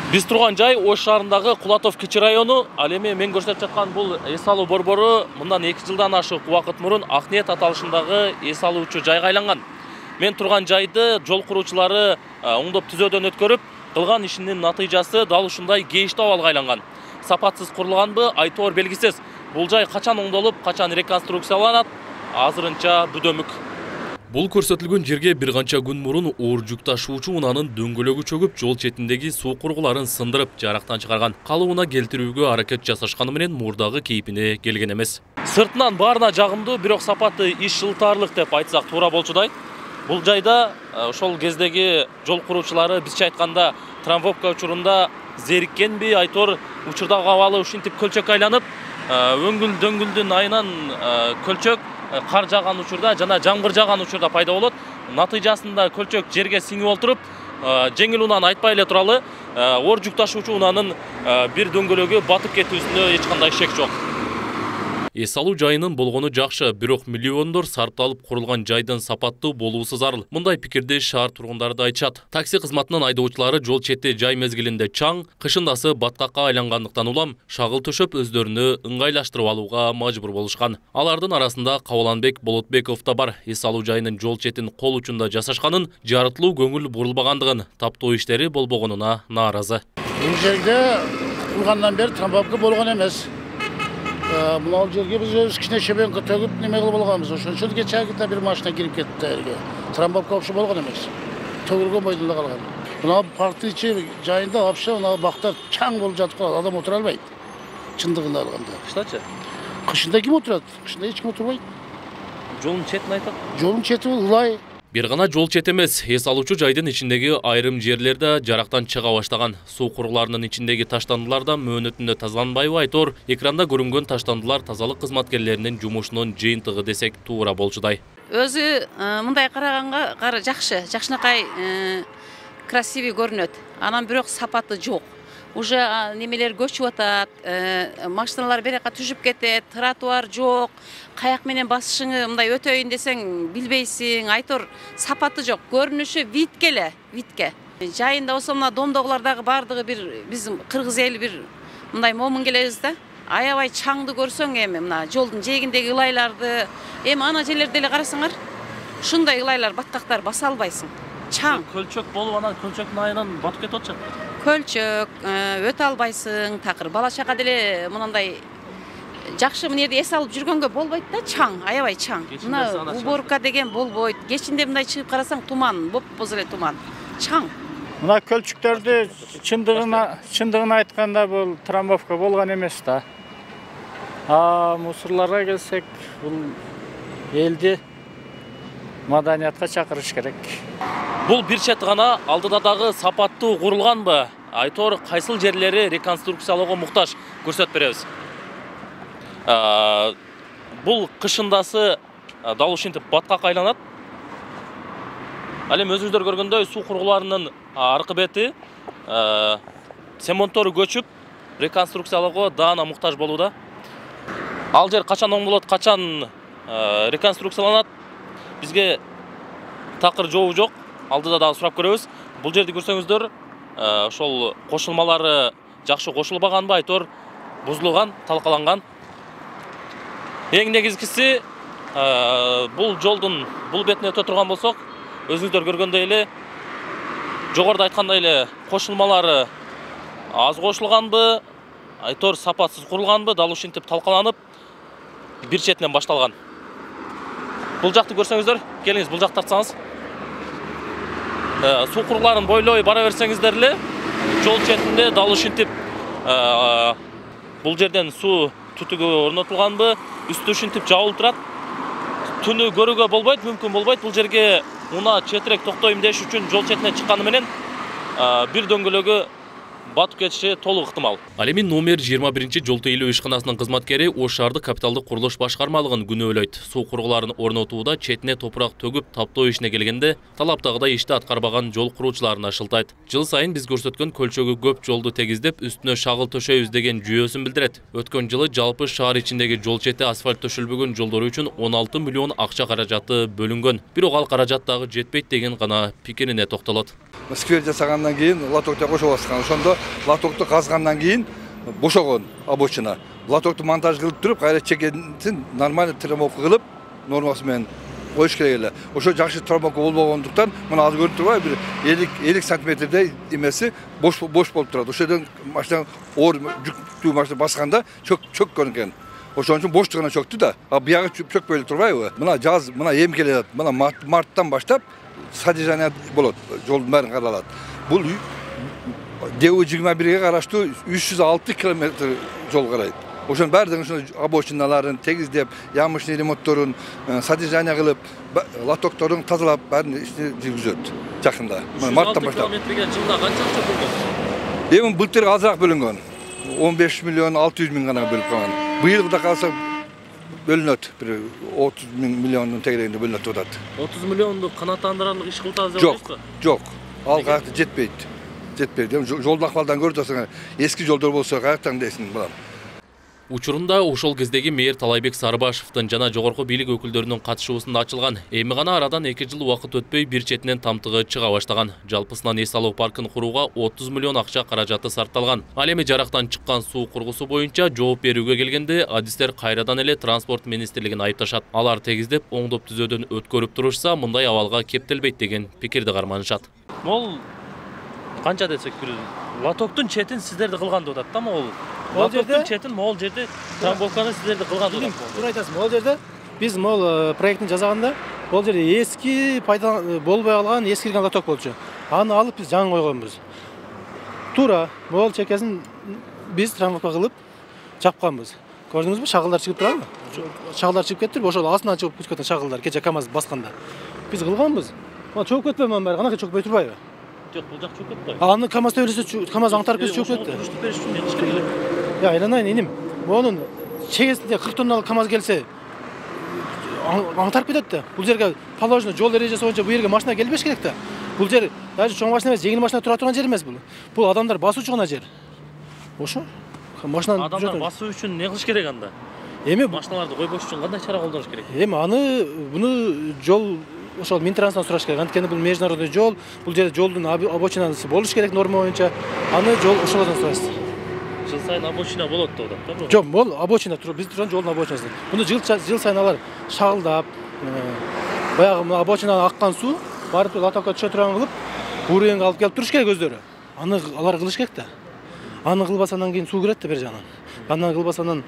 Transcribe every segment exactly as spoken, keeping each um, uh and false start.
Биз турган жай Ош шаарындагы Кулатов кичи району. Ал эми мен көрсөтүп жаткан бул эс алуу борбору мындан эки жылдан ашык убакыт мурун Акниет аталышындагы эс алуучу жайга айланган. Мен турган жайды жол куруучулары оңдоп түзөөдөн өткөрүп, кылган ишинин натыйжасы дал ушундай кейиштүү абалга айланган. Сапатсыз курулганбы, айтоор белгисиз. Бул жай качан оңдолуп, качан реконструкцияланат, азырынча бүдөмүк. Бул көрсөтүлгөн жерге бир канча күн мурун оор жүк ташуучу унаанын дөңгөлөгү чөгүп, жол четиндеги суу кургуларын сындырып, жарактан чыгарган. Калуу уна келтирүүгө аракет жасашканы менен мурдагы кейпине келген эмес. Сыртынан баарына жагымдуу, бирок сапаты иш жылтаарлык деп айтсак туура болчудай. Бул жайда ошол кездеги жол куруучулары бизче айтканда трамвопка учурунда зериккенби, айтор учурдагы абалы ушинтип көлчөккө айланып, өңгүл дөңгүлдүн айынан көлчөк кар жааган учурда жана жамгыр жааган учурда пайда болот. Натыйжасында көлчөк жерге сиңип олтуруп, жеңил унааны айтпай эле туралы, оор жүк ташуучу унаанын бир дөңгөлөгү батып кетүүсүнө эч кандай шек жок. Эс алуу жайынын болгону жакшы, бирок миллиондор сарпталып курулган жайдын сапаттуу болуусу зарыл. Мындай пикирди шаар тургундары да айтышат. Такси кызматынын айдоочулары жол чети жай мезгилинде чаң, кышындасы баткакка айлангандыктан улам шагыл төшөп өздөрүнү ыңгайлаштырып алууга мажбур болушкан. Алардын арасында Кабаланбек Болотбеков да бар. Эс алуу жайынын жол четин кол учунда жасашканын, жарытылуу көңүл бурулбагандыгын, таптоо иштери болбогонуна нааразы. Бул жерде кургандан бери трамвопка болгон эмес. Мынау жерге біз өз кішкене шебенкі төгіп неме қылып алғанбыз. Ошончол кечээкиде бир машина кирип кетти жерге. Трамвопка окшо болгон эмес. Төгүлгөн бойдон калган. Мына парктын ичи жайында вообще мына бактар чаң болуп жатып калат. Адам отура албайт. Чындыгында алганда. Кыштачы? Кышында ким отурат? Кышында эч ким отурбайт. Жолдун четин айтат. Жолдун чети ылай. Бир гана жол чет эмес, эс алуучу жайдын ичиндеги айрым жерлерде жарактан чыга баштаган. Суу кургуларынын ичиндеги таштандылар да мөөнөтүндө тазаланбайбы айтор, экранда көрүнгөн таштандылар тазалык кызматкерлеринин жумушунун жыйынтыгы десек туура болчудай. Өзү мындай караганга жакшы, жакшынакай красивый көрүнөт. Анан бирок сапаты жок. Уже немелер көчүп атат, машиналар берека түшүп кетет, тротуар жок, каяк менен басышыңы мындай өтөйүн десең билбейсиң, айтор сапаты жок, көрүнүшү витке эле, витке. Жайында болсо мына домдогулардагы бардыгы бир биз кыргыз эли бир мындай момун келебиз да. Аябай чаңды көрсөң эми мына жолдун жээгиндеги ылайларды, эми ана жерлерде эле карасаңар, ушундай ылайлар, баткактар баса албайсың. Чаң. Көлчөк болуп анан көлчөктүн айынан батып кетип атчы. Көлчөк, өтө албайсың, такыр бала чага деле мындай жакшы мына жерде эс алып жүргөнгө болбойт да, чаң, аябай чаң. Мына уборка деген болбойт. Кечинде мындай чыгып карасаң туман, боп-боз эле туман. Чаң. Мына көлчүктөрдү чындыгына, чындыгын айтканда бул трамвопка болгон эмес да. А мусорларга келсек, бул элди маданиятка чакырыш керек. Бул бир чет гана, алдыда дагы сапаттуу курулганбы? Айтор кайсыл жерлери реконструкциялоого муктаж, көрсөтүп беребиз. Бул кышындасы дал ушинтип баткакка айланат. Ал эми өзүңүздөр көргөндөй суу кургуларынын аркы бети семонтору көчүп, реконструкциялоого даана муктаж болууда. Ал жер качан оңдолот, качан реконструкцияланат? Бизге такыр жообу жок. Алдыда дагы сурап көрөбүз. Бул жерди көрсөңүздөр, ошол кошулмалары жакшы кошулбаганбы, айтор бузулган, талкаланган. Эң негизгиси, бул жолдун бул бетине өтө турган болсок, өзүңүздөр көргөндөй эле, жогоруда айткандай эле кошулмалары аз кошулганбы, айтор сапатсыз курулганбы, дал ушинтип талкаланып, бир четинен башталган. Бул жакты көрсөңүздөр, келиңиз бул жакты тартсаңыз. Суу кургуларын бойлой бара берсеңиздер эле, жол четинде дал ушинтип бул жерден суу түтүгү орнотулганбы, үстү ушинтип жабылып турат. Түнү көрүүгө болбойт, мүмкүн болбойт. Бул жерге унаа четирээк токтойм деш үчүн жол четине чыкканы менен бир дөңгөлөгү батып кетиши толук ыктымал. Ал эми номер жыйырма биринчи жол тейлөө ишканасынын кызматкери Ош шаардык капиталдык курулуш башкармалыгын күнөөлөйт. Суу кургуларын орнотууда четине топурак төгүп таптоо ишине келгенде талаптагыдай ишти аткарбаган жол куруучуларына шылтайт. Жыл сайын биз көрсөткөн көлчөгү көп жолду тегиздеп, үстүнө шагыл төшөйбүз деген жүйөсүн билдирет. Өткөн жылы жалпы шаар ичиндеги жол чети асфальт төшөлбөгөн жолдору үчүн он алты миллион акча каражаты бөлүнгөн. Бирок ал каражат дагы жетпейт деген гана пикирине токтолот. Сквер жасагандан кийин лотокто кошуп аткан. Ошондо лотокту казгандан кийин бошогон обочина. Лотокту монтаж кылып туруп, кайра чекенсин нормально трамбовка кылып, нормасы менен коюш керек эле. Ошо жакшы трамбовка болбогондуктан, мына азыр көрүп турбайбы, бир элүү сантиметрдей эмеси бош бош болуп турат. Ошодон машина оор жүктүү машина басканда чөк чөккөн экен. Ошон үчүн боштугуна чөктү да. А биягы чөкпөй эле турбайбы? Мына жаз, мына эми келет. Мына марттан баштап содержание болот, жолдун баарын каралат. Бул ДЭУ жыйырма бирге караштуу үч жүз алты километр жол карайт. Ошонун баардыгын ушул обочиналарын тегиздеп, ямышный ремонтторун содержание кылып, лотокторун тазалап, баарын ишти жүргүзөт жакында. Марттан баштап. Километрге жылда канча акча бөлгөн? Эми былтыр азыраак бөлүнгөн. он беш миллион алты жүз миң гана бөлүп калган. Быйыл да калса бөлүнөт, бир отуз миллиондун тегерегинде бөлүнөт атат. отуз миллионду канааттандырарлык иш кылтабыз деп Жок, атасызбы? жок. Ал каякта жетпейт. Жетпейт. Жолдун акыбалдан көрүп атасың, эски жолдор болсо каяктан дейсиң балам. Учурунда ошол кездеги мэр Талайбек Сарыбашевдин жана жогорку бийлик өкүлдөрүнүн катышуусунда ачылган. Эми гана арадан эки жыл убакыт өтпөй бир четинен тамтыгы чыга баштаган. Жалпысынан эс алуу паркын курууга отуз миллион акча каражаты сарпталган. Ал эми жарактан чыккан суу кургусу боюнча жооп берүүгө келгенде адистер кайрадан эле транспорт министрлигин айыпташат. Алар тегиздеп оңдоп түзөөдөн өткөрүп турушса, мындай абалга кептелбейт деген пикирди карманышат. Мол канча десек бир лотоктун четин сиздерди кылган деп атат да, могул. Лотоктун четин могул жерде трамбовканы сиздерди кылган деп атат. Туура айтасыз. Могул жерде биз могул проектин жасаганда бул жерде эски пайдалан болбой калган эскирген лоток болчу. Аны алып биз жаңы койгонбуз. Туура могул чекесин биз трамбовка кылып жапканбыз. Көрдүңүзбү, шагылдар чыгып турабы? Шагылдар чыгып кетти, ошол астынан чыгып кеткен шагылдар кече КАМАЗ басканда. Биз кылганбыз. Ма чөгүп кетпейби мына баары, канакай чөгүпөй турбайбы? Жок, бул жак чөгүп кетти. Аны КАМАЗ төбөлөсө КАМАЗ аңтарып кетип чөгүп кетти. Туруштуп бериш үчүн кылыш керек эле. Я, айланайын иним. Монун чегесинде кырк тонналык КАМАЗ келсе, аңтарып кетет да. Бул жерге положено жол эрежеси боюнча бул жерге машина келбеш керек да. Бул жер даже чоң машина эмес, жеңил машина тура турган жер эмес бул. Бул адамдар басуучу гана жер. Ошо. Машина адамдар басуу үчүн не кылыш керек анда? Эми машиналарды койбош үчүн кандай чара колдонуш керек? Эми аны буну жол ошол Минтрансдан сураш керек. Анткени бул международный жол, бул жерде жолдун обочинасы болуш керек норма боюнча. Аны жол ошолордон сурайсыз. Жыл сайын обочина болот деп атат, туура? Жок, бул обочина туруп, биз турган жолдун обочинасы. Муну жыл жыл сайын алар шагылдап, баягы обочинаны аккан суу барып лотокко түшө турган кылып, уровеньге алып келип туруш керек өздөрү. Аны алар кылыш керек да. Аны кылбаса андан кийин суу кирет да бер жагынан. Андан кылбаса анан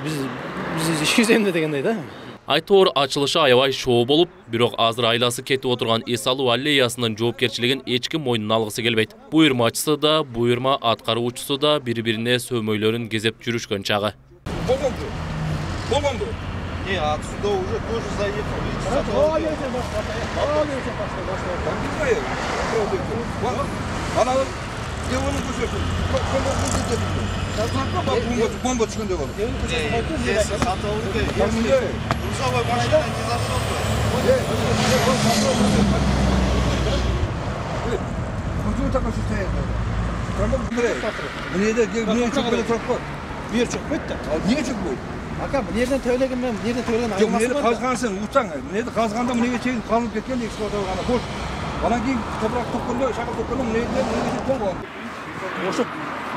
биз биз ишибиз эмне дегендей да. Айтор ачылышы аябай шоо болуп, бирок азыр айласы кетип отурган эс алуу аллеясынын жоопкерчилигин эч ким мойнуна алгысы келбейт. Буйрмачысы да, буйрма аткаруучусу да бири-бирине сөөмөйлөрүн кезеп жүрүшкөн чагы. Болгонбу? Болгонбу? Не, отсюда уже тоже заехал. Ана девонун көчөсү. Бомба түшкөндөй болду. Грузовой машина не зашел бы. Почему такое состояние? Мне это мне чөкпөй туруп кой. Бир чөкпөйт да. Эмне чөкпөйт? Ака, мынерден төлөгөн менен мынерден төлөгөн айырмасы бар. Жок, мени казгансың, утсаң, мени казганда мынеге чейин казылып кеткен эксплуатация кылганда бош. Анан кийин топурак токкондо, шагыл токкондо мынеге мынеге тоңгон. Ошо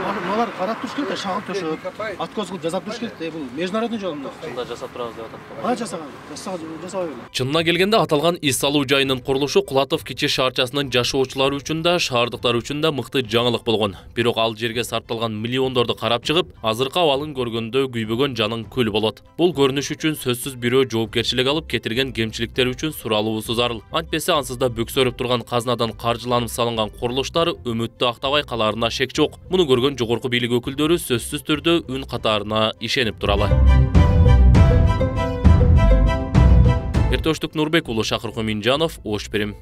мыналар карап туруш керек да, шагыл төшөп, откос кылып жасап туруш керек да, бул международный жол мында. Чында жасап турабыз деп атат. Ана жасаган, жасабай эле. Чынына келгенде аталган эс алуу жайынын курулушу Кулатов кичи шаарчасынын жашоочулары үчүн да, шаардыктар үчүн да мыкты жаңылык болгон. Бирок ал жерге сарпталган миллиондорду карап чыгып, азыркы абалын көргөндө күйбөгөн жаның күл болот. Бул көрүнүш үчүн сөзсүз бирөө жоопкерчилик алып, кетирген кемчиликтер үчүн суралуусу зарыл. Антпесе ансыз да бөксөрүп турган казнадан каржыланып салынган курулуштар үмүттү актабай калаарына шек жок. Муну көргөн жогорку бийлик өкүлдөрү сөзсүз түрдө үн катарына ишенип туралы. Эртөштүк Нурбек уулу, Шакыр Коминжанов, Ош Перим.